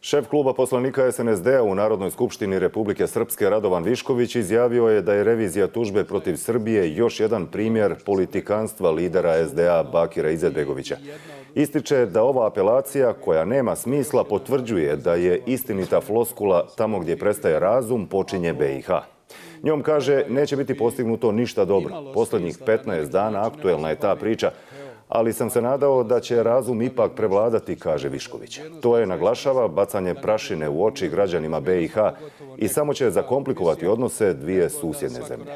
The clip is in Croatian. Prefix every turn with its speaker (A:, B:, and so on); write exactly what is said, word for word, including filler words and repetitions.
A: Šef kluba poslanika S N S D-a u Narodnoj skupštini Republike Srpske Radovan Višković izjavio je da je revizija tužbe protiv Srbije još jedan primjer politikanstva lidera S D A Bakira Izetbegovića. Ističe da ova apelacija, koja nema smisla, potvrđuje da je istinita floskula tamo gdje prestaje razum, počinje B i H. Njom kaže neće biti postignuto ništa dobro. Posljednjih petnaest dana aktuelna je ta priča, ali sam se nadao da će razum ipak prevladati, kaže Višković. To je, naglašava, bacanje prašine u oči građanima B i H i samo će zakomplikovati odnose dvije susjedne zemlje.